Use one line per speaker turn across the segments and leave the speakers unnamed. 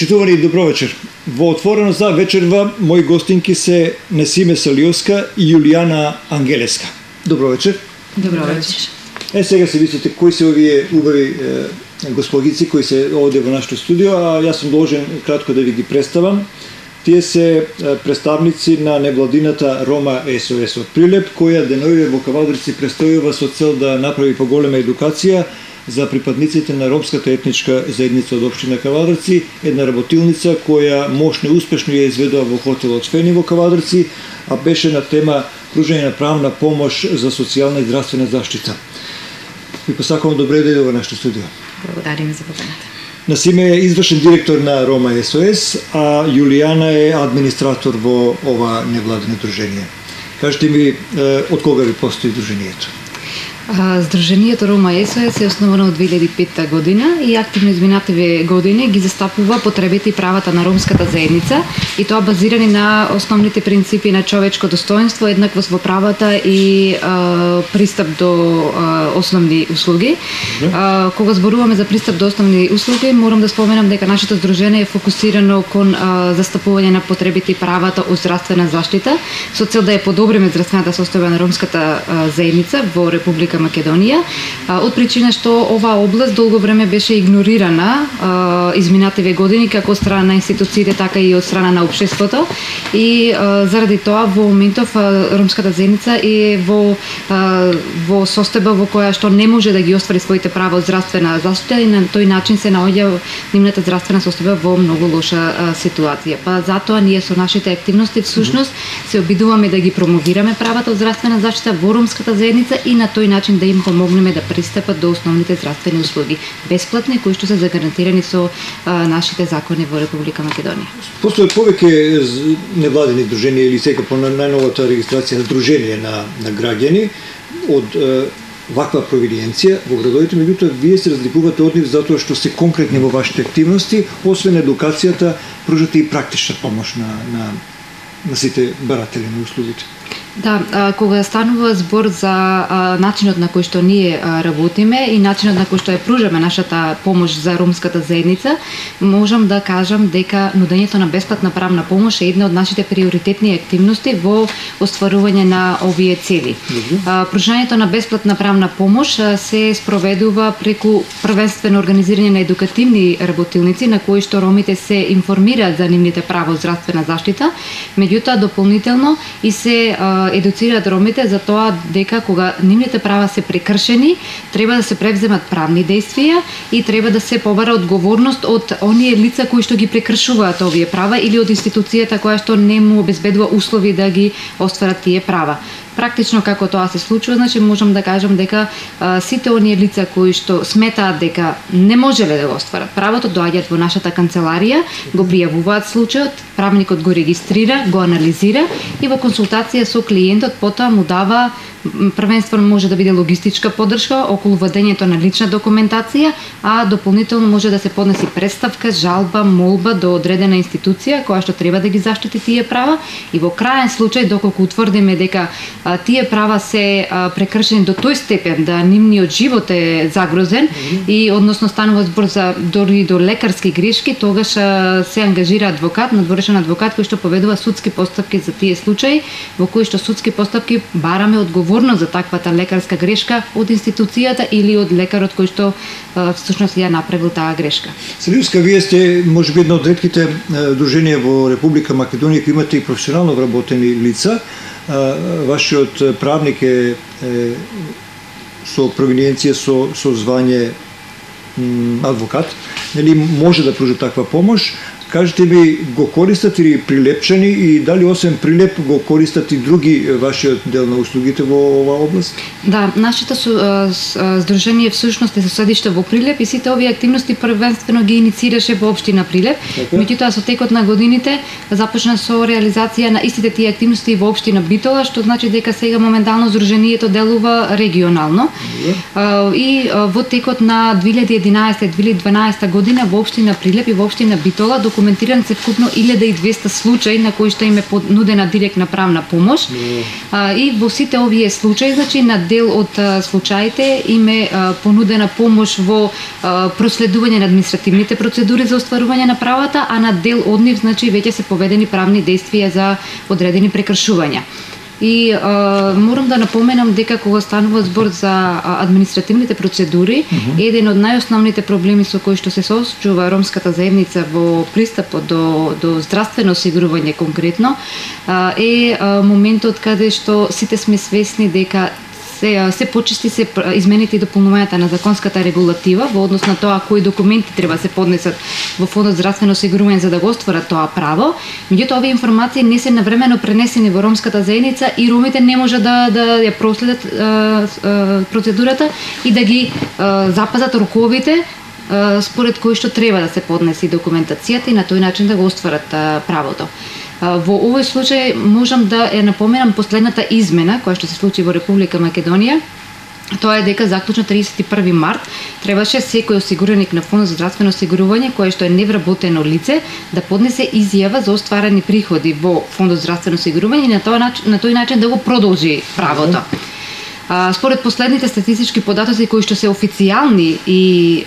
Почитувани добро вечер. Во отворено за вечерва мои гостинки се Несиме Салиовска и Јулијана Ангелеска. Добро вечер.
Добро вечер.
Сега се мислите кои се овие убави господици кои се овде во нашето студио, а јас сум должен кратко да ви ги представам. Тие се представници на невладината Рома СОС од Прилеп, која деновиве во Кавалдрици престојува со цел да направи поголема едукација за припадниците на ромската етничка заедница од општина Кавалдрици, една работилница која мощно и успешно ја изведува во хотелот Фени во Кавалдрици, а беше на тема пружање на правна помош за социјална и здравствена заштита. Ви посакувам добре дојде во нашето студио.
Благодариме за поканата.
Несиме е извршен директор на Рома СОС, а Јулијана е администратор во ова невладино дружение. Кажете ми, од кога ви постои дружението?
Сдруженијето Рома СОС е основано од 2005 година и активно изминативе години ги застапува потребите и правата на ромската заедница, и тоа базирани на основните принципи на човечко достоинство, еднаквост во правата и пристап до основни услуги. Кога зборуваме за пристап до основни услуги, морам да споменам дека нашето здружение е фокусирано кон застапување на потребите и правата од здравствена заштита, со цел да ја подобриме здравствената состојба на ромската заедница во Република Македонија, од причина што оваа област долго време беше игнорирана изминативе години како од страна на институциите, така и од страна на општеството, и заради тоа во моментов ромската заедница е во состојба во која што не може да ги оствари своите права од здравствена заштита, и на тој начин се наоѓа нивната здравствена состојба во многу лоша ситуација. Па затоа ние со нашите активности всушност се обидуваме да ги промовираме правата од здравствена заштита во ромската заедница и на тој начин да им помогнеме да пристапат до основните здравствени услуги, бесплатни, кои што се загарантирани со нашите закони во Република Македонија.
Постојат повеќе невладени друженија или сега по најновата регистрација дружение на граѓани од ваква провиденција во градовите, меѓутоа вие се разликувате од нив затоа што се конкретни во вашите активности, освен едукацијата, пружате и практична помош на сите баратели на услугите.
Да, кога станува збор за начинот на кој што ние работиме и начинот на кој што ја пружаме нашата помош за ромската заедница, можам да кажам дека нудењето на бесплатна правна помош е една од нашите приоритетни активности во остварување на овие цели. Пружањето на бесплатна правна помош се спроведува преку првенствено организирање на едукативни работилници на кои што ромите се информираат за нивните права од здравствена заштита, меѓутоа дополнително и се едуцираат ромите за тоа дека кога нивните права се прекршени, треба да се превземат правни действија и треба да се побара одговорност од оние лица кои што ги прекршуваат овие права или од институцијата која што не му обезбедува услови да ги остварат тие права. Практично како тоа се случува, значи можам да кажам дека сите оние лица кои што сметаат дека не можеле да го остварат правото, доаѓаат во нашата канцеларија, го пријавуваат случајот, правникот го регистрира, го анализира и во консултација со клиентот потоа му дава првенствено може да биде логистичка поддршка околу водењето на лична документација, а дополнително може да се поднеси представка, жалба, молба до одредена институција која што треба да ги заштити тие права, и во краен случај доколку утврдиме дека тие права се прекршени до тој степен да нивниот живот е загрозен и односно станува збор за дори до лекарски грешки, тогаш се ангажира адвокат, надворешен адвокат кој што поведува судски постапки за тие случаи, во кои што судски постапки бараме одговорност за таквата лекарска грешка од институцијата или од лекарот кој што всушност ја направил таа грешка.
Салиовска, вие сте можеби една од ретките друженија во Република Македонија кои имате и професионално вработени лица. Вашиот правник е со провиненција со звање адвокат, нели може да пружи таква помош. Кажете ми, го користат или Прилепчани и дали освен Прилеп го користат и други вашиот дел на услугите во оваа област?
Да, нашето здружение всушност е со седиште во Прилеп и сите овие активности првенствено ги иницираше во општина Прилеп. Меѓутоа со текот на годините започна со реализација на истите тие активности во општина Битола, што значи дека сега моментално здружението делува регионално. И во текот на 2011-2012 година во општина Прилеп и во општина Битола, документиран се вкупно 1200 случаи на кои што им е понудена директна правна помош. И во сите овие случаи, значи на дел од случаите им е понудена помош во проследување на административните процедури за остварување на правата, а на дел од нив, значи, веќе се поведени правни действија за одредени прекршувања. И морам да напоменам дека кога станува збор за административните процедури, еден од најосновните проблеми со кои што се соочува ромската заедница во пристапот до здравствено осигурување конкретно е моментот каде што сите сме свесни дека се почести се измените и дополнувањата на законската регулатива во однос на тоа кои документи треба се поднесат во Фондот за здравствено осигурување за да го остварат тоа право. Меѓутоа овие информации не се навремено пренесени во ромската заедница и ромите не може да ја проследат процедурата и да ги запазат роковите според кои што треба да се поднесе документацијата и на тој начин да го остварат правото. Во овој случај можам да ја напоменам последната измена која што се случи во Република Македонија. Тоа е дека заклучно 31 март требаше секој осигураник на Фонд за здравствено осигурување кој што е невработено лице да поднесе изјава за остварени приходи во Фондот за здравствено осигурување и на тој начин да го продолжи правото. Според последните статистички податоци кои што се официјални и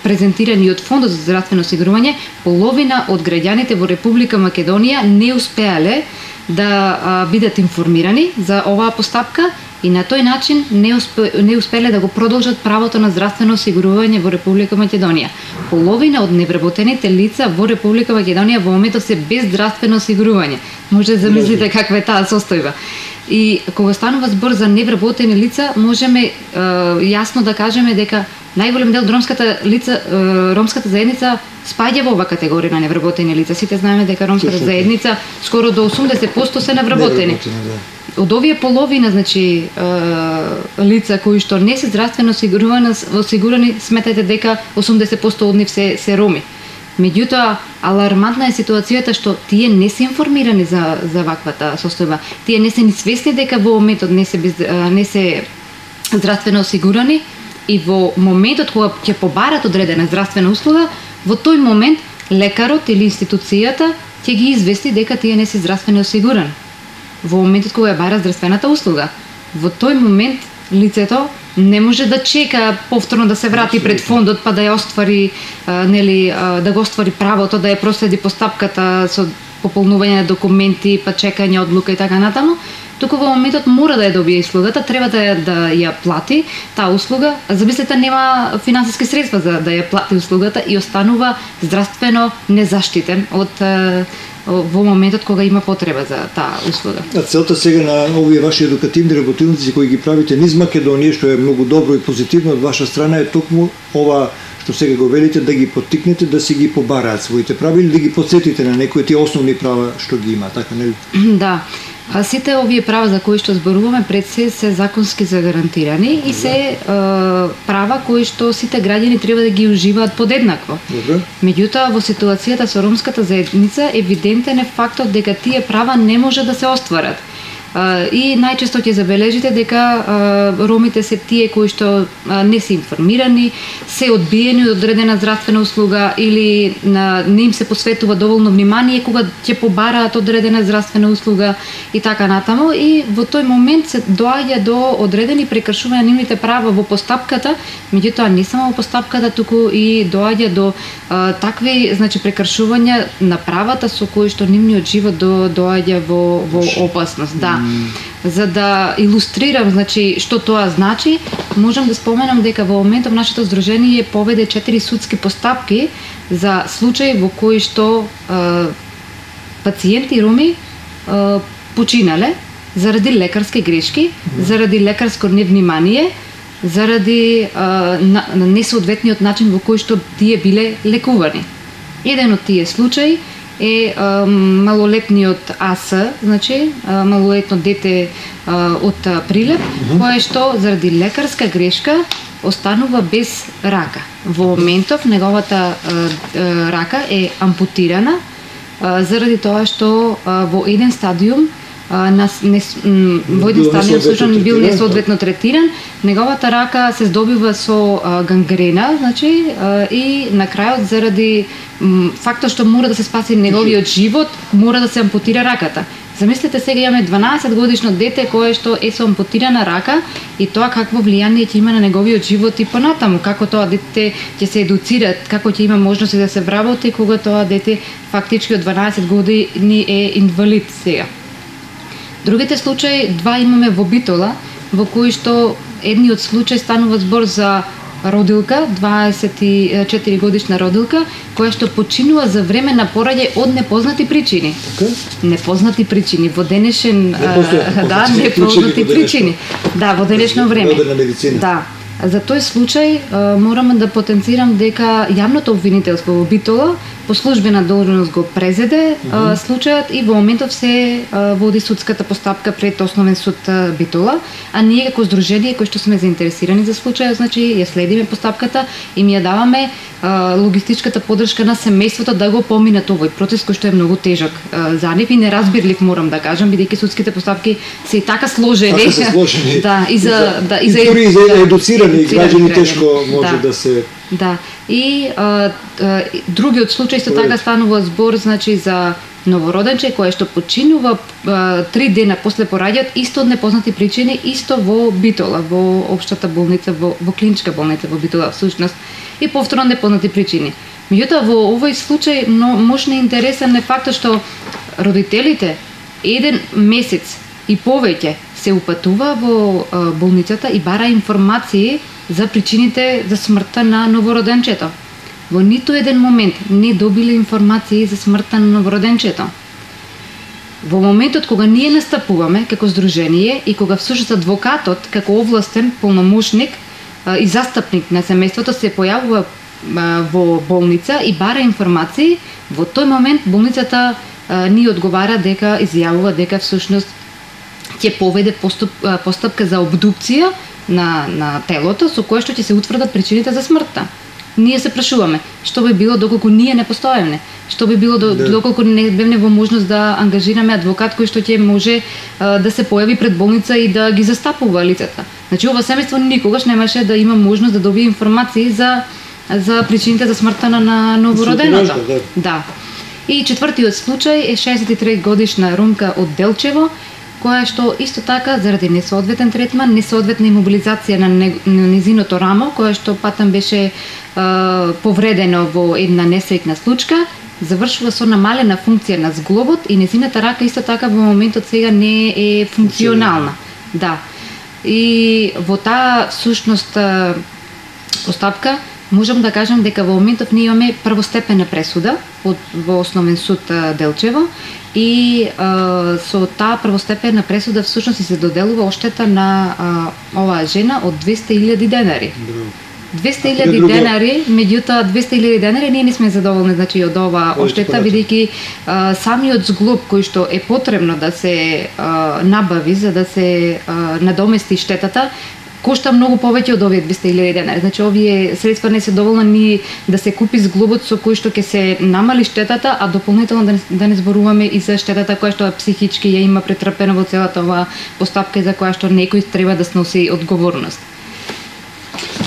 презентирани од Фондот за здравствено осигурување, половина од граѓаните во Република Македонија не успеале да бидат информирани за оваа постапка и на тој начин не успеле да го продолжат правото на здравствено осигурување во Република Македонија. Половина од невработените лица во Република Македонија во моментот се без здравствено осигурување. Може да замислите каква е таа состојба. И кога станува збор за невработени лица, можеме јасно да кажеме дека најголем дел од ромската заедница спаѓа во оваа категорија на невработени лица. Сите знаеме дека ромската заедница скоро до 80% се невработени. Од овие половина, значи, лица кои што не се здравствено осигурани, сметајте дека 80% од нив се роми. Меѓутоа, алармантна е ситуацијата што тие не се информирани за ваквата состојба. Тие не се ни свесни дека во моментот не се здравствено осигурани и во моментот кога ќе побарат одредена здравствена услуга, во тој момент лекарот или институцијата ќе ги извести дека тие не се здравствено осигурани. Во моментот кога ја бара здравствената услуга, во тој момент лицето не може да чека повторно да се врати пред фондот па да ја оствари, да го оствари правото, да ја проследи постапката со пополнување на документи, па чекање одлука и така натаму. Туку во моментот мора да ја добие услугата, треба да ја плати таа услуга. Замислете, нема финансиски средства за да ја плати услугата и останува здравствено незаштитен во моментот кога има потреба за таа услуга.
А целта сега на овие ваши едукативни работилници кои ги правите низ Македонија, што е многу добро и позитивно од ваша страна, е токму ова што сега го велите, да ги поттикнете да си ги побараат своите права или да ги подсетите на некои тие основни права што ги има, така нели?
Да. Сите овие права за кои што зборуваме пред се законски загарантирани и се права кои што сите граѓани треба да ги уживаат подеднакво. Меѓутоа, во ситуацијата со ромската заедница евидентен е фактот дека тие права не може да се остварат. И најчесто ќе забележите дека ромите се тие кои што не се информирани, се одбиени од одредена здравствена услуга или не им се посветува доволно внимание кога ќе побараат одредена здравствена услуга и така натаму, и во тој момент се доаѓа до одредени прекршувања на нивните права во постапката, меѓутоа не само во постапката, туку и доаѓа до такви, значи, прекршувања на правата со кои што нивниот живот доаѓа во опасност. Да. За да илустрирам, значи, што тоа значи, можам да споменам дека во моментов нашето здружение поведе 4 судски постапки за случаи во кои што пациенти роми починале заради лекарски грешки, заради лекарско невнимание, заради несоодветниот начин во кој што тие биле лекувани. Еден од тие случаи е малолетниот АС, значи малолетно дете од Прилеп, кое што заради лекарска грешка останува без рака. Во моментов неговата рака е ампутирана заради тоа што во еден стадиум во еден стадион слушан бил несоодветно третиран, неговата рака се здобива со гангрена, значи, и на крајот заради фактот што мора да се спаси неговиот живот, мора да се ампутира раката. Замислете сега имаме 12 годишно дете кое што е со ампутирана рака и тоа какво влијание ќе има на неговиот живот и понатаму, како тоа дете ќе се едуцира, како ќе има можности да се вработи кога тоа дете фактички од 12 години е инвалид сега. Другите случаи, два имаме во Битола, во кои што едниот случај станува збор за родилка, 24 годишна родилка, која што починува за време на пораѓај од непознати причини. Непознати причини во денешен непознати причини. Да, во денешно време. Да. За тој случај морам да потенцирам дека јавното обвинителство во Битола по службена должност го презеде случајот и во моментов се води судската постапка пред Основен суд Битола, а ние како здружение кои што сме заинтересирани за случајот, значи ја следиме постапката и ми ја даваме логистичката подршка на семејството да го поминат овој процес кој што е многу тежок за нив и неразбирлив, морам да кажам, бидејќи судските постапки се и така сложени.
Така се сложени.
Да, и за
едуцирани граѓани тешко може да се.
Да. И другиот случај исто така станува збор, значи, за новороденче кое што починува 3 дена после пораѓајот, исто од непознати причини, исто во Битола, во општата болница, во клиничка болница во Битола всушност, и повторно непознати причини. Меѓутоа во овој случај мощно интересен е фактот што родителите еден месец и повеќе се упатува во болницата и бара информации за причините за смртта на новороденчето. Во ниту еден момент не добиле информации за смртта на новороденчето. Во моментот кога ние настапуваме како здружение и кога всушност адвокатот како овластен полномошник и застапник на семејството се појавува во болница и бара информации, во тој момент болницата ни одговара дека изјавува дека всушност ќе поведе постапка за обдукција на телото со кое што ќе се утврдат причините за смртта. Ние се прашуваме што би било доколку ние не постоевме, што би било доколку не бевне во можност да ангажираме адвокат кој што ќе може да се појави пред болница и да ги застапува лицата. Значи ова семејство никогаш немаше да има можност да добие информации за причините за смртта на новороденото. Да. И четвртиот случај е 63 годишна ромка од Делчево, која што исто така заради несоодветен третман, несоодветна имобилизација на низиното рамо, која што патам беше повредено во една несреќна случка, завршува со намалена функција на зглобот и низината рака исто така во моментот сега не е функционална. Да. И во таа всушност постапка можам да кажам дека во моментов ние имаме првостепена пресуда во Основен суд Делчево и со таа првостепена пресуда всушност се доделува оштета на оваа жена од 200.000 денари. 200.000 денари, меѓутоа 200.000 денари ние не сме задоволни, значи, од оваа оштета, бидејќи самиот зглоб кој што е потребно да се набави за да се надомести штетата кошта многу повеќе од овие 200.000 денари. Значи овие средства не се доволни да се купи зглобот со кој што ќе се намали штетата, а дополнително да не зборуваме и за штетата која што психички ја има претрпена во целата оваа постапка за која што некој треба да сноси одговорност.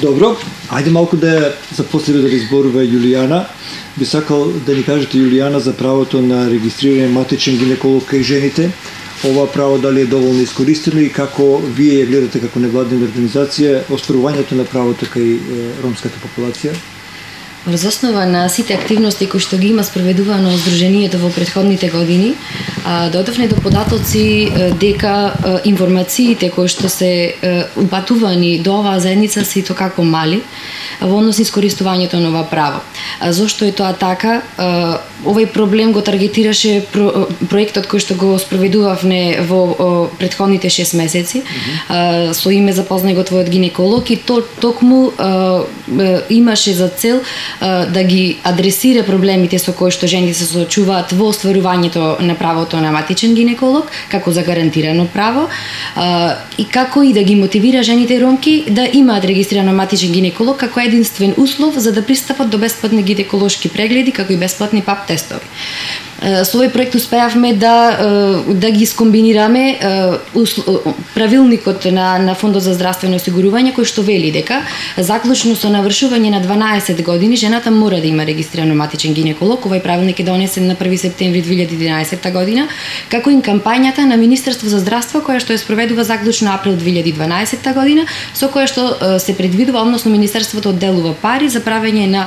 Добро, ајде малку да започнеме да изборува Јулијана. Би сакал да ни кажете, Јулијана, за правото на регистриран матичен гинеколог кај жените. Ова право дали е доволно искористено и како вие ја гледате како невладина организација остварувањето на правото кај ромската популација?
Врз основа на сите активности кои што ги има спроведувано здруженијето во претходните години, дојдовме до податоци дека информациите кои што се упатувани до оваа заедница се ито како мали во однос на искористувањето на ова право. Зошто е тоа така? Овој проблем го таргетираше проектот кој што го спроведувавме во претходните 6 месеци со име Запознај го твојот гинеколог и токму имаше за цел да ги адресира проблемите со кои што жените се соочуваат во остварувањето на правото на матичен гинеколог како за гарантирано право и како и да ги мотивира жените ромки да имаат регистрирано матичен гинеколог како единствен услов за да пристапат до бесплатни гинеколошки прегледи како и бесплатни ПАП тестови. Со овој проект успеавме да ги скомбинираме правилникот на Фондот за здравствено осигурување, кој што вели дека заклучно со навршување на 12 години жената мора да има регистриран матичен гинеколог. Овој правилник е донесен на 1 септември 2011 година, како и кампањата на Министерство за здравство која што ја спроведува заклучно април 2012 година, со која што се предвидува, односно Министерството одделува пари за правење на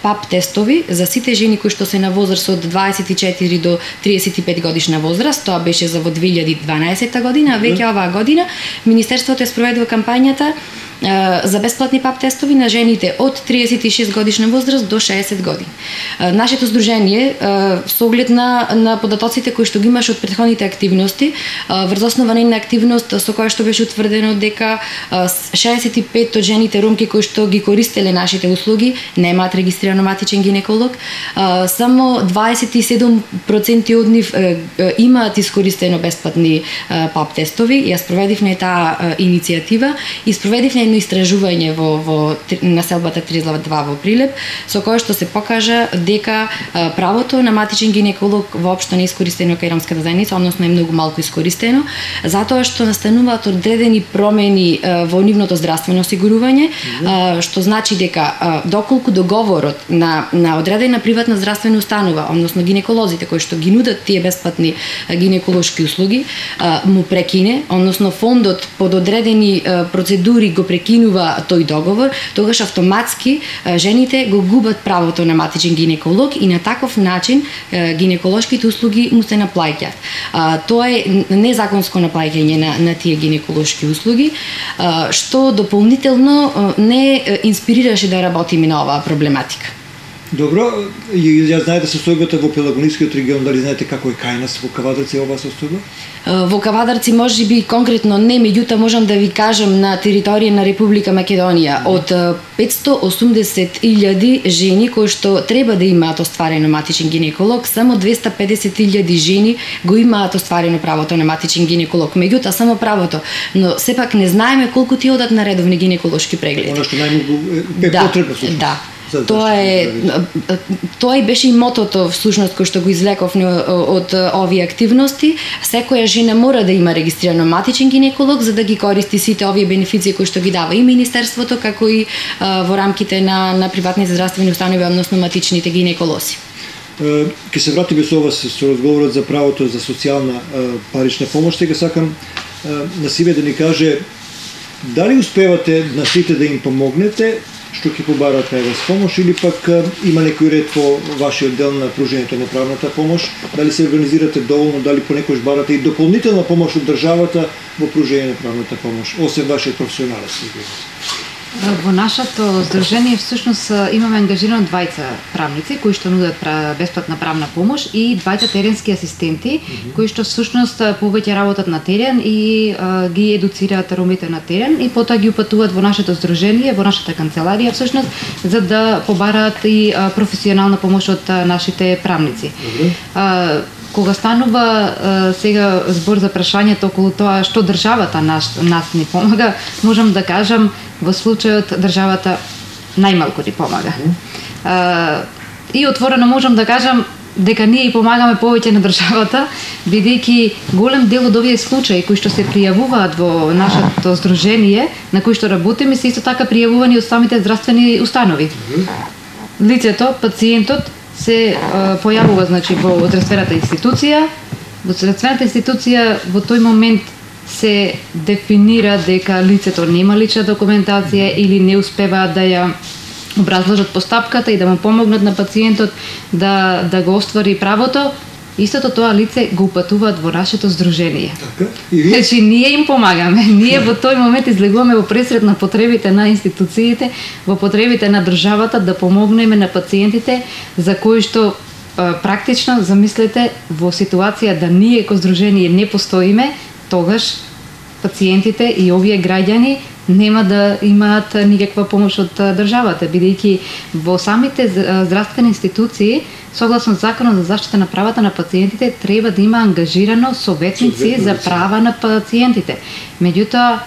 ПАП тестови за сите жени кои што се на возраст од 24 до 35 годишна возраст. Тоа беше за во 2012 година, а веќе оваа година Министерството ја спроведува кампањата за бесплатни ПАП тестови на жените од 36 годишна возраст до 60 години. Нашето здружение, со оглед на податоците кои што ги имаше од претходните активности, врз основа на активност со која што беше утврдено дека 65 од жените ромки кои што ги користеле нашите услуги немаат регистрирано матичен гинеколог, само 27% од нив имаат искористено бесплатни ПАП тестови. Ја спроведивме таа иницијатива и спроведивме едно истражување во населбата Тризлава-2 во Прилеп, со кое што се покажа дека правото на матичен гинеколог воопшто не е искористено кај ромската заедница, односно е многу малку искористено, затоа што настануваат одредени промени во нивното здравствено осигурување, што значи дека доколку договорот на одредена приватна здравствена установа, односно гинеколозите кои што ги нудат тие бесплатни гинеколошки услуги, му прекине, односно фондот под одредени процедури го прекинува тој договор, тогаш автоматски жените го губат правото на матичен гинеколог и на таков начин гинеколошките услуги му се наплаќаат. Тоа е незаконско наплаќање на тие гинеколошки услуги, што дополнително не инспирираше да работиме на оваа проблематика.
Добро, ја знаете состојбата во Пелагонискиот регион, дали знаете како е кај нас во Кавадарци оваа состојба?
Во Кавадарци можеби конкретно не, меѓутоа можам да ви кажам на територија на Република Македонија од 580.000 жени кои што треба да имаат остварено матичен гинеколог, само 250.000 жени го имаат остварено правото на матичен гинеколог. Меѓутоа само правото, но сепак не знаеме колку ти одат на редовни гинеколошки прегледи.
Оно што најмногу е потребно.
Да. Тоа и беше и мотото всушност кој што го извлековме од овие активности. Секоја жена мора да има регистрирано матичен гинеколог за да ги користи сите овие бенефиции кои што ги дава и Министерството, како и во рамките на приватните здравствени установи, односно матичните гинеколози.
Ке се вратиме со вас со разговорот за правото за социјална парична помош. Сега сакам на Сиве да ни каже дали успевате на сите да им помогнете што ќе побараат кај вас помош, или пак има некој ред во вашиот дел на пружењето на правната помош, дали се организирате доволно, дали понекогаш барате и дополнителна помош од државата во пружење на правната помош, освен вашиот професионален стигел?
Во нашето здружение всушност имаме ангажирано двајца правници кои што нудат бесплатна правна помош и двајца теренски асистенти кои што всушност повеќе работат на терен и ги едуцираат ромите на терен и потоа ги упатуваат во нашето здружение, во нашата канцеларија всушност за да побараат и професионална помош од нашите правници. Кога станува сега збор за прашањето околу тоа што државата нас ни помага, можам да кажам во случајот државата најмалку ни помага. И отворено можам да кажам дека ние помагаме повеќе на државата, бидејќи голем дел од овие случаи кои што се пријавуваат во нашето здружение, на кои што работиме, се исто така пријавувани од самите здравствени установи. Лицето, пациентот се појавува значи во здравствената институција. Во здравствената институција во тој момент се дефинира дека лицето нема лична документација или не успеваат да ја образложат постапката и да му помогнат на пациентот да го оствари правото. Истото тоа лице го упатуваат во нашето здружение. Значи ние им помагаме. Ние во тој момент излегуваме во пресред на потребите на институциите, во потребите на државата да помогнеме на пациентите за кои што практично замислете во ситуација да ние како здружение не постоиме, тогаш пациентите и овие граѓани нема да имаат никаква помош од државата, бидејќи во самите здравствени институции согласно Законот за заштита на правата на пациентите треба да има ангажирано советници за права на пациентите. Меѓутоа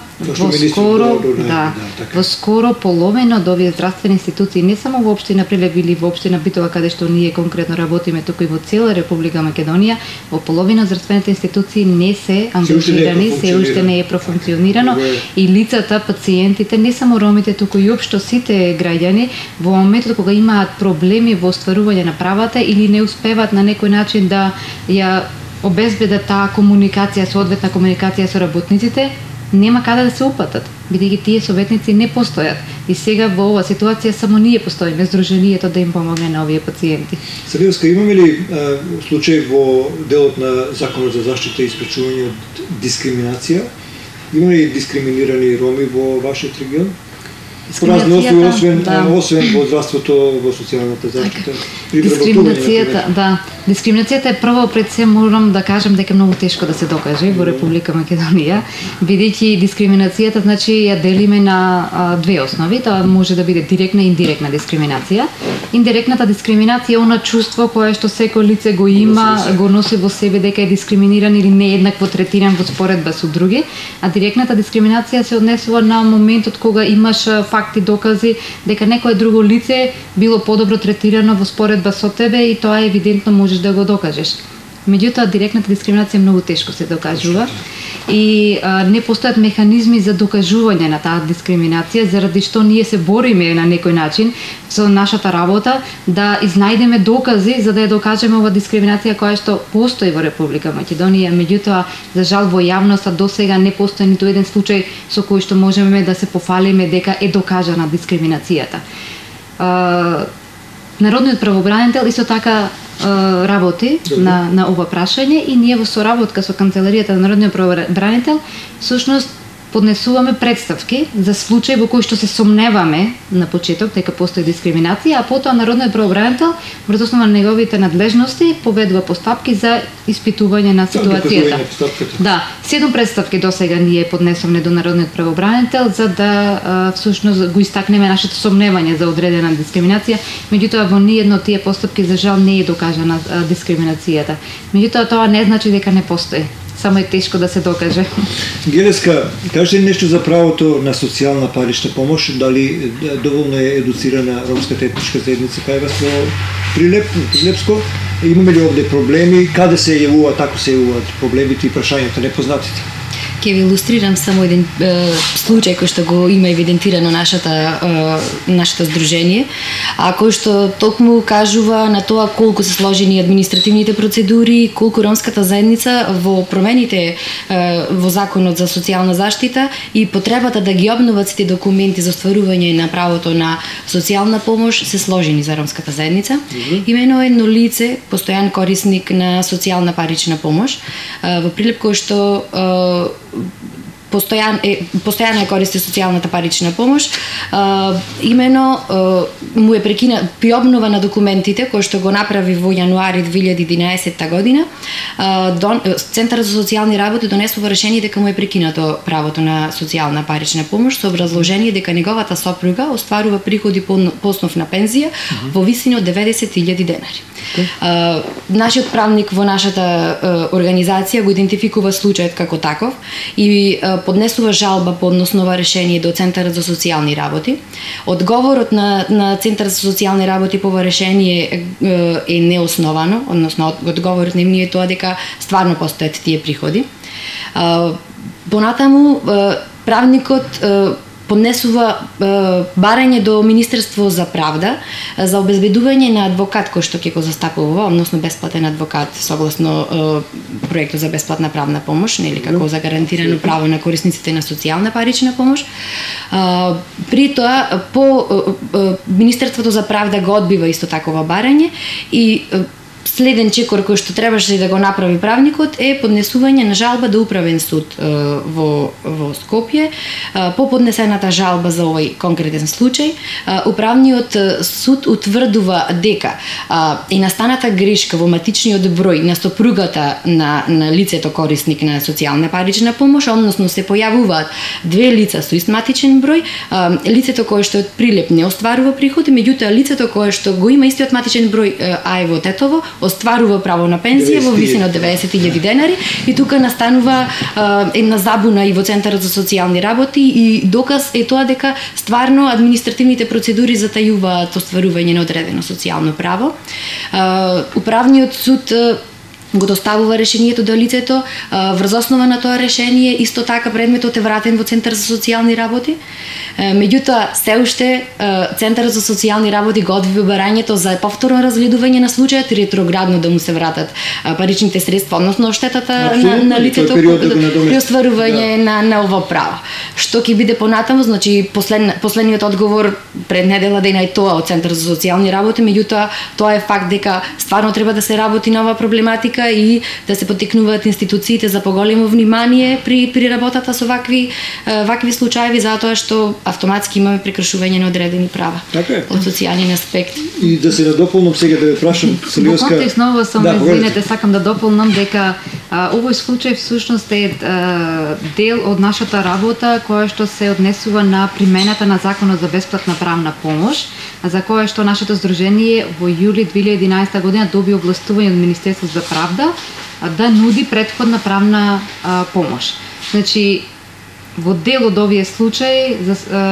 во скоро половина од овие здравствени институции, не само во општина Прилеп или во општина Битола, каде што ние конкретно работиме, туку и во цела Република Македонија, во половина од здравствените институции не се ангажирани, се уште не е профункционирано и лицата, пациентите, не само ромите, туку и општо сите граѓани, во моментот кога имаат проблеми во остварување на правата или не успеваат на некој начин да ја обезбедат таа комуникација, соодветна комуникација со работниците, нема каде да се упатат, бидејќи тие советници не постојат. И сега во оваа ситуација само ние постоиме, Сдруженијето да им помогне на овие пациенти.
Сабилска, имаме ли случај во делот на Законот за заштита и спречување од дискриминација? Има ли дискриминирани роми во вашиот регион? По разни основи, освен во здравството, во социјалната заштита.
Дискриминацијата е прво пред се морам да кажам дека е многу тешко да се докаже во Република Македонија, бидејќи дискриминацијата значи ја делиме на две основи, тоа може да биде директна и индиректна дискриминација. Индиректната дискриминација е она чувство кое што секој лице го има, го носи во себе дека е дискриминиран или нееднакво третиран во споредба со други, а директната дискриминација се однесува на моментот кога имаш факти, докази дека некое друго лице било подобро третирано во споредба со тебе и тоа евидентно можеш да го докажеш. Меѓутоа, директната дискриминација многу тешко се докажува и не постојат механизми за докажување на таа дискриминација, заради што ние се бориме на некој начин со нашата работа да изнајдеме докази за да ја докажеме ова дискриминација која што постои во Република Македонија. Меѓутоа, за жал во јавноста досега не постои ниту еден случај со кој што можеме да се пофалиме дека е докажана дискриминацијата. Народниот правобранител исто така работи на ова прашање и ние во соработка со Канцеларијата на Народниот правобранител всушност поднесуваме представки за случаи во кои што се сомневаме на почеток дека постои дискриминација, а потоа Народниот правобранител врз основа на неговите надлежности поведува постапки за испитување на ситуацијата. Да, 7 представки досега ние поднесовме до Народниот правобранител за да всушност го истакнеме нашето сомневање за одредена дискриминација, меѓутоа во ниедно од тие постапки за жал не е докажана дискриминацијата. Меѓутоа тоа не значи дека не постои. Само е тешко да се докаже.
Гелеска, кажете нешто за правото на социјална парична помош, дали доволно е едуцирана ромската етничка заедница кај вас во Прилепско? Имаме ли овде проблеми? Каде се јавуваат, ако се јавуваат проблемите и прашањата непознатите?
Ќе ви илустрирам само еден случај кој што го има евидентирано нашето здружение, а кој што токму кажува на тоа колку се сложени административните процедури, колку ромската заедница во промените во Законот за социјална заштита и потребата да ги обноват сите документи за остварување на правото на социјална помош се сложени за ромската заедница. Имено едно лице, постојан корисник на социјална парична помош во Прилеп, кој што постојано користи социјалната парична помош, имено му е при обнова на документите кој што го направи во јануари 2011 година, Центарот за социјални работи донесува решение дека му е прекинато правото на социјална парична помош со образложение дека неговата сопруга остварува приходи по основ на пензија во висина од 90.000 денари. Нашиот правник во нашата организација го идентификува случајот како таков и поднесува жалба по односнова решение до Центарот за социјални работи. Одговорот на Центарот за социјални работи по ова решение е неосновано, односно одговорот на нив е тоа дека стварно постојат тие приходи. Понатаму правникот поднесува барање до Министерство за правда за обезбедување на адвокат кој што ќе го застапува, односно бесплатен адвокат согласно проектот за бесплатна правна помош, нели како за гарантирано право на корисниците на социјална парична помош. При тоа по Министерството за правда го одбива исто такова барање и следен чекор кој што требаше да го направи правникот е поднесување на жалба до управен суд во Скопје. По поднесената жалба за овој конкретен случај, управниот суд утврдува дека и настаната грешка во матичниот број на сопругата на лицето корисник на социјална парична помош, односно се појавуваат две лица со ист матичен број, лицето кое што е од Прилеп не остварува приходи, меѓутоа лицето кое што го има истиот матичен број, а е во Тетово, остварува право на пензија во висина од 90.000 денари, и тука настанува една забуна и во Центарот за социјални работи, и доказ е тоа дека стварно административните процедури затајуваат остварување на одредено социјално право. Управниот суд го доставува решението до лицето, врз основа на тоа решение исто така предметот е вратен во Центар за социјални работи. Меѓутоа се уште Центарот за социјални работи го одвива барањето за повторно разгледување на случајот и ретроградно да му се вратат паричните средства, односно штетата на лицето при остварување на ова право. Што ќе биде понатаму, значи последниот одговор пред недела дена е тоа од Центар за социјални работи, меѓутоа тоа е факт дека стварно треба да се работи на оваа проблематика и да се поттикнуваат институциите за поголемо внимание при работата со вакви случаи, затоа што автоматски имаме прекршување на одредени права од социјален аспект.
И да се надополнам сега да ве прашам, Силјоска.
Во контекст на ова само извинете, сакам да дополнам дека овој случај всушност е дел од нашата работа која што се однесува на примената на Законот за бесплатна правна помош, за која што нашето здружение во јули 2011 година доби овластување од Министерството за правда да нуди претходна правна помош. Значи, во дел од овие случаи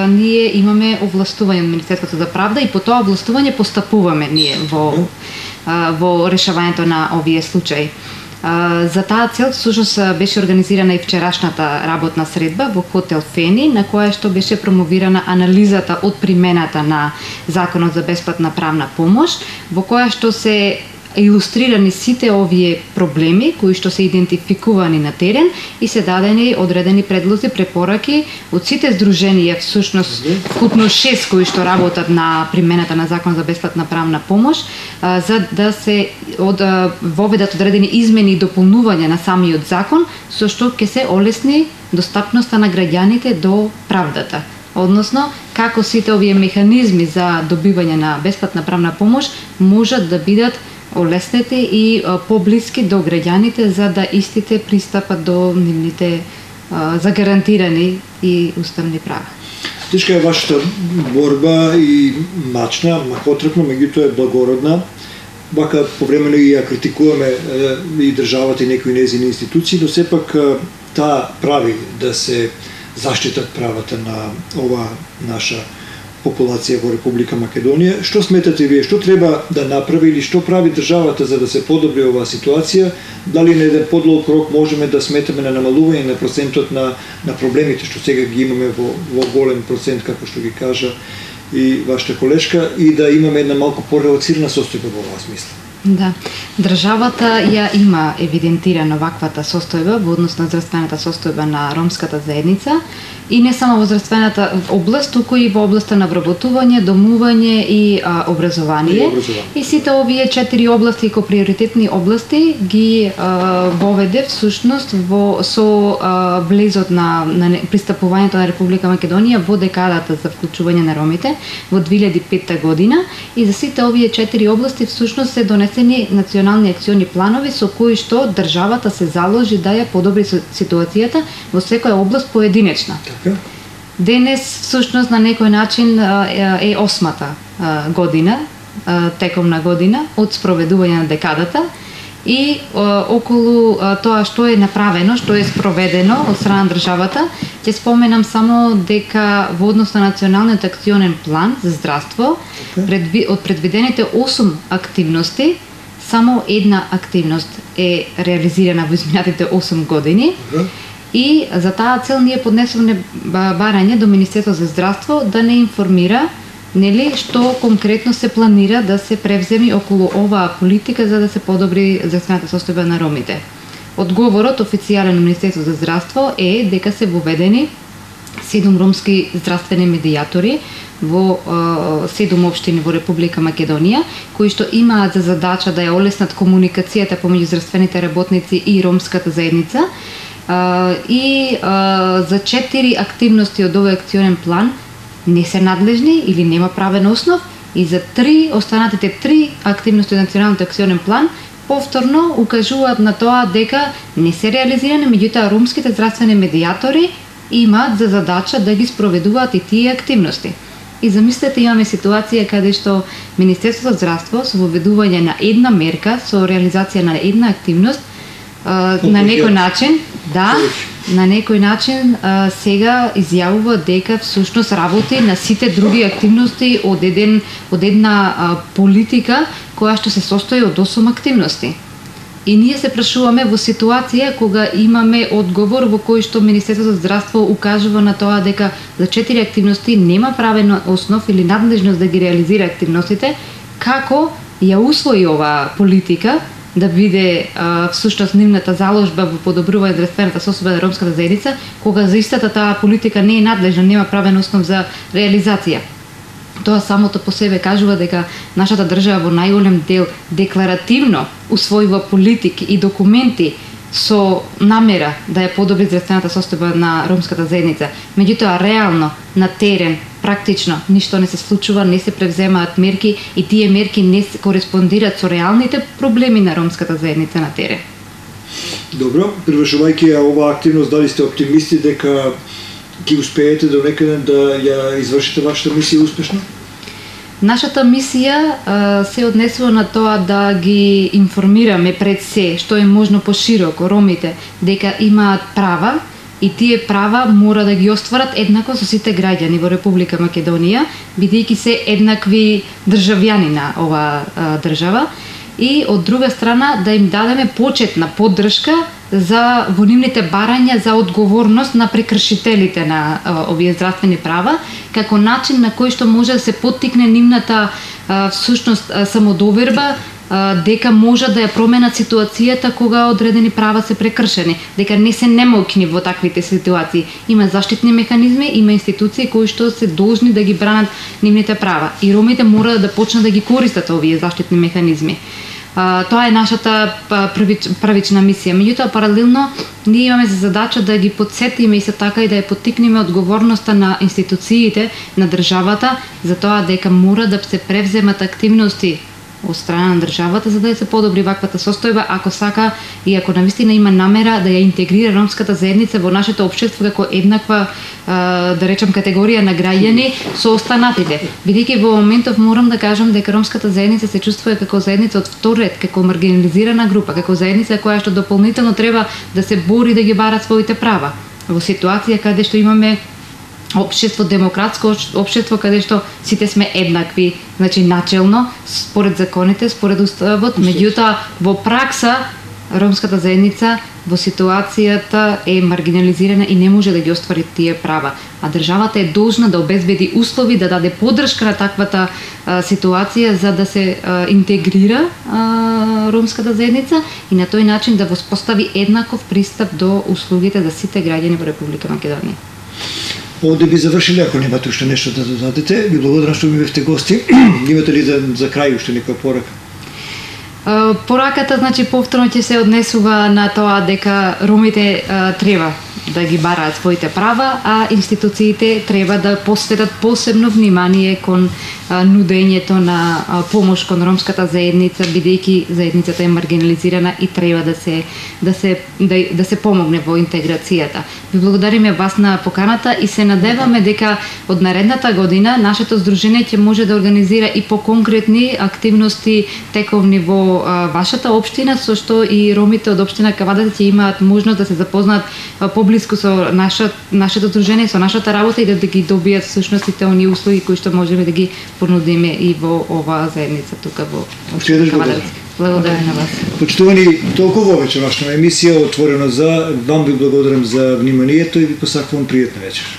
ние имаме овластување од Министерството за правда и по тоа овластување постапуваме ние во решавањето на овие случаи. За таа цел всушност беше организирана и вчерашната работна средба во хотел Фени, на која што беше промовирана анализата од примената на Законот за бесплатна правна помош, во која што се илустрирани сите овие проблеми кои што се идентификувани на терен и се дадени одредени предлози, препораки од сите здруженија, всушност вкупно 6 кои што работат на примената на Закон за бесплатна правна помош, за да се воведат одредени измени и дополнувања на самиот закон, со што ќе се олесни достапноста на граѓаните до правдата. Односно, како сите овие механизми за добивање на бесплатна правна помош можат да бидат олеснети и поблиски до граѓаните за да истите пристапат до нивните загарантирани и уставни права.
Тешка е вашата борба и мачна, махотрпна, меѓутоа е благородна. Вака повремено и ја критикуваме и државата и некои нејзини институции, но сепак таа прави да се заштитат правата на ова наша популација во Република Македонија. Што сметате вие, што треба да направи или што прави државата за да се подобри оваа ситуација? Дали на еден подлог рок можеме да сметаме на намалување на процентот на проблемите што сега ги имаме во голем процент, како што ги кажа и вашата колешка, и да имаме една малку порелаксирана состојба во оваа смисла?
Да, државата ја има евидентирано ваквата состојба во однос на здравствената состојба на ромската заедница и не само во здравствената област, туку и во областа на вработување, домување и образование. И сите овие 4 области како приоритетни области ги воведе всушност со влезот на пристапувањето на Република Македонија во декадата за вклучување на ромите во 2005 година, и за сите овие 4 области всушност се донесени национални акциони планови со кои што државата се заложи да ја подобри ситуацијата во секоја област поединечна. Денес всушност на некој начин е 8-та година, текомна година од спроведување на декадата, и околу тоа што е направено, што е спроведено од страна на државата, ќе споменам само дека во однос на националниот акционен план за здравство, од предвидените 8 активности, само една активност е реализирана во изминатите 8 години. И за таа цел ние поднесовме барање до Министерството за здравство да не информира што конкретно се планира да се превземи околу оваа политика за да се подобри здравствената состојба на ромите. Одговорот официјален на Министерството за здравство е дека се воведени 7 ромски здравствени медијатори во 7 општини во Република Македонија, кои што имаат за задача да ја олеснат комуникацијата помеѓу здравствените работници и ромската заедница. И за 4 активности од овој акционен план не се надлежни или нема правен основ, и за останатите 3 активности од националниот акционен план повторно укажуваат на тоа дека не се реализирани, меѓутоа ромските здравствени медијатори имаат за задача да ги спроведуваат и тие активности. И замислете, имаме ситуација каде што Министерството за здравство со воведување на една мерка, со реализација на една активност, на некој начин, на некој начин сега изјавува дека всушност работи на сите други активности од една политика која што се состои од 8 активности. И ние се прашуваме во ситуација кога имаме одговор во кој што Министерството за здравство укажува на тоа дека за 4 активности нема правен основ или надлежност да ги реализира активностите, како ја усвои оваа политика да биде всушност нивната заложба во подобрување здравствената состојба на ромската заедница, кога за истата таа политика не е надлежна, нема правен основ за реализација. Тоа самото по себе кажува дека нашата држава во најголем дел декларативно усвојува политики и документи со намера да ја подобри здравствената состојба на ромската заедница. Меѓутоа, реално, на терен, практично, ништо не се случува, не се превземаат мерки и тие мерки не кореспондираат со реалните проблеми на ромската заедница на терен.
Добро, привршувајќи оваа активност, дали сте оптимисти дека ги успеете до некаде да ја извршите вашата мисија успешно?
Нашата мисија се однесува на тоа да ги информираме пред се што е можно пошироко ромите дека имаат права и тие права мора да ги остварат еднакво со сите граѓани во Република Македонија, бидејќи се еднакви државјани на оваа држава, и од друга страна да им дадеме почетна поддршка за во нивните барања за одговорност на прекршителите на овие здравствени права, како начин на кој што може да се поттикне нивната всушност самодоверба дека може да ја променат ситуацијата кога одредени права се прекршени, дека не се немоќни во таквите ситуации. Има заштитни механизми, има институции кои што се должни да ги бранат нивните права и ромите мора да почнат да ги користат овие заштитни механизми. Тоа е нашата првична мисија. Меѓутоа, паралелно, ние имаме за задача да ги подсетиме и се така и да ја поттикнеме одговорноста на институциите, на државата, за тоа дека мора да се превземат активности од страна на државата за да се подобри ваквата состојба, ако сака и ако навистина има намера да ја интегрира ромската заедница во нашето општество како еднаква, да речем, категорија на граѓани со останатите. Бидејќи во моментов морам да кажам дека ромската заедница се чувствува како заедница од втор ред, како маргинализирана група, како заедница која што дополнително треба да се бори да ги бара своите права. Во ситуација каде што имаме општество, демократско општество каде што сите сме еднакви, значи начелно, според законите, според уставот, меѓутоа во пракса ромската заедница во ситуацијата е маргинализирана и не може да ги оствари тие права. А државата е должна да обезбеди услови, да даде поддршка на таквата ситуација за да се интегрира ромската заедница и на тој начин да воспостави еднаков пристап до услугите за сите граѓани во Република Македонија.
Овде би завршиле, ако немате уште нешто да додадете. Ви благодарам што ми бевте гости. Имате ли за крај уште некоја порака?
Пораката, значи, повторно ќе се однесува на тоа дека ромите треба да ги бараат своите права, а институциите треба да посветат посебно внимание кон нудењето на помош кон ромската заедница, бидејќи заедницата е маргинализирана и треба да се помогне во интеграцијата. Ви благодариме вас на поканата и се надеваме дека од наредната година нашето здружение ќе може да организира и по-конкретни активности тековни во вашата општина, со што и ромите од општина Кавадар ќе имаат можност да се запознаат поблиску со нашето здружение, со нашата работа и да ги добијат всушност сите оние услуги кои што можеме да ги понудиме и во оваа заедница тука во Кавадар. Благодарам на вас.
Почитувани, толку вовече вашата емисија отворено за вам, ви благодарам за вниманието и ви посакувам пријатна вечер.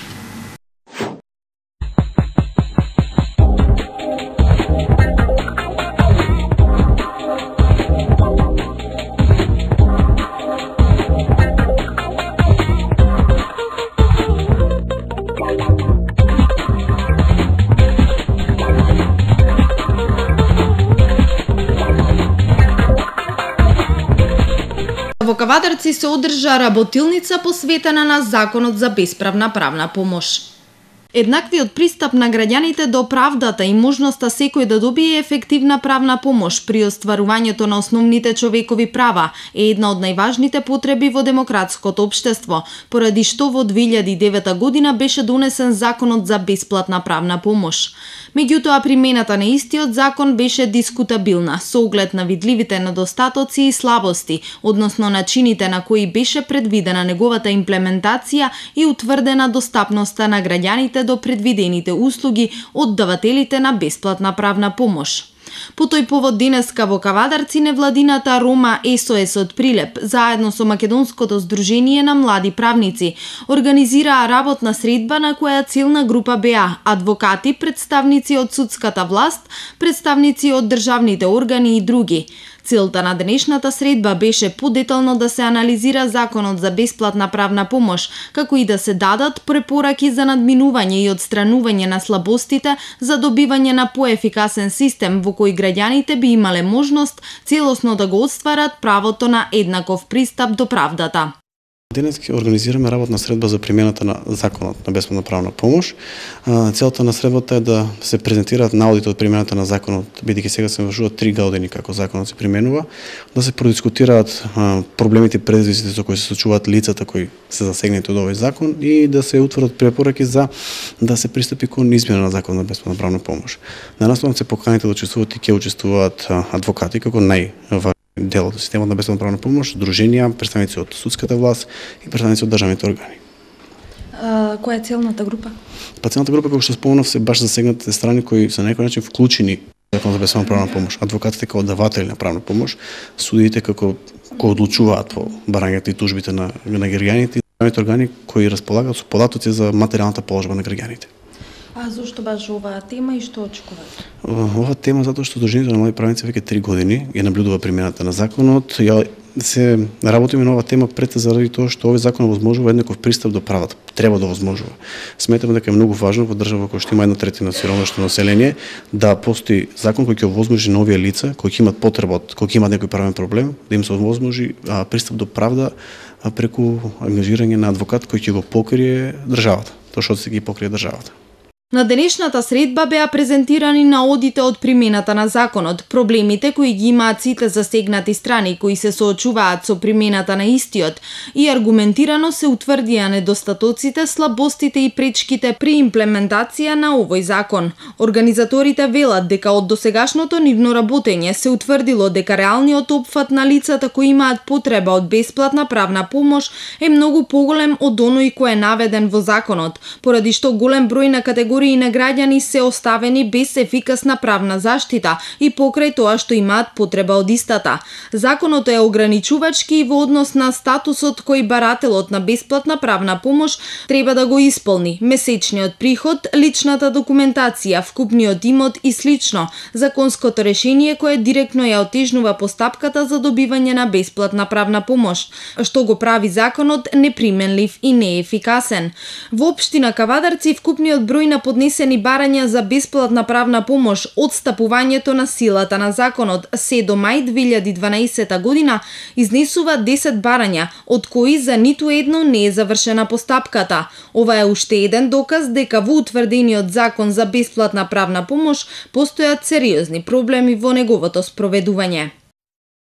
Кавадарци се одржа работилница посветена на Законот за бесправна правна помош. Еднаквиот пристап на граѓаните до правдата и можноста секој да добие ефективна правна помош при остварувањето на основните човекови права е една од најважните потреби во демократското општество, поради што во 2009 година беше донесен Законот за бесплатна правна помош. Меѓутоа, примената на истиот закон беше дискутабилна, со оглед на видливите недостатоци и слабости, односно начините на кои беше предвидена неговата имплементација и утврдена достапноста на граѓаните до предвидените услуги од давателите на бесплатна правна помош. По тој повод денеска во Кавадарци невладината Рома СОС од Прилеп, заедно со Македонското здружение на млади правници, организираа работна средба на која целна група беа адвокати, представници од судската власт, представници од државните органи и други. Целта на денешната средба беше подетално да се анализира Законот за бесплатна правна помош, како и да се дадат препораки за надминување и отстранување на слабостите за добивање на поефикасен систем во кој граѓаните би имале можност целосно да го остварат правото на еднаков пристап до правдата.
Денес организираме работна средба за примената на Законот на бесплатна правна помош. Целта на средбата е да се презентираат наодите од примената на Законот, бидејќи сега се вршуваат 3 години како Законот се применува, да се продискутираат проблемите и предизвиците со кои се соочуваат лицата кои се засегнати од овој закон и да се утврдат препораки за да се пристапи кон измена на Законот на бесплатна правна помош. Нанаставно се поканите да учествуваат и ќе учествуваат адвокати како најважни дел од системот на бесплатна правна помош, друженија, представници од судската власт и представници од државните органи.
Која е целната група?
Целната група, како што спомнав, се баш засегнатите страни кои се на некој начин вклучени во Законот за бесплатна правна помош. Адвокатите како даватели на правна помош, судиите како кои одлучуваат по барањата и тужбите на граѓаните и државните органи кои располагаат со податоци за материјалната положба на граѓаните.
А зошто баш оваа тема и што очекувате?
Оваа тема затоа што Сдруженијето на млади правници веќе 3 години ја наблюдува примената на законот. Ја се работиме на оваа тема пред заради тоа што овој закон овозможува еднаков пристап до правата. Треба да овозможува. Сметаме дека е многу важно во држава која што има 1/3 сиромашно население да постои закон кој ќе овозможи на овие лица кои имаат потреба, кои имаат некој правен проблем, да им се овозможи пристап до правда преку ангажирање на адвокат кој ќе го покрие државата, тоа што се ги покрие државата.
На денешната средба беа презентирани наодите од примената на законот, проблемите кои ги имаат сите засегнати страни кои се соочуваат со примената на истиот и аргументирано се утврдија недостатоците, слабостите и пречките при имплементација на овој закон. Организаторите велат дека од досегашното нивно работење се утврдило дека реалниот опфат на лицата кои имаат потреба од бесплатна правна помош е многу поголем од оној кој е наведен во законот, поради што голем број на категории на граѓани се оставени без ефикасна правна заштита и покрај тоа што имаат потреба од истата. Законот е ограничувачки и во однос на статусот кој барателот на бесплатна правна помош треба да го исполни: месечниот приход, личната документација, вкупниот имот и слично, законското решение кое директно ја отежнува постапката за добивање на бесплатна правна помош, што го прави законот неприменлив и неефикасен. Во општина Кавадарци вкупниот број на поднесени барања за бесплатна правна помош од стапувањето на силата на законот се до мај 2012 година изнесува 10 барања, од кои за ниту едно не е завршена постапката. Ова е уште еден доказ дека во утврдениот закон за бесплатна правна помош постојат сериозни проблеми во неговото спроведување.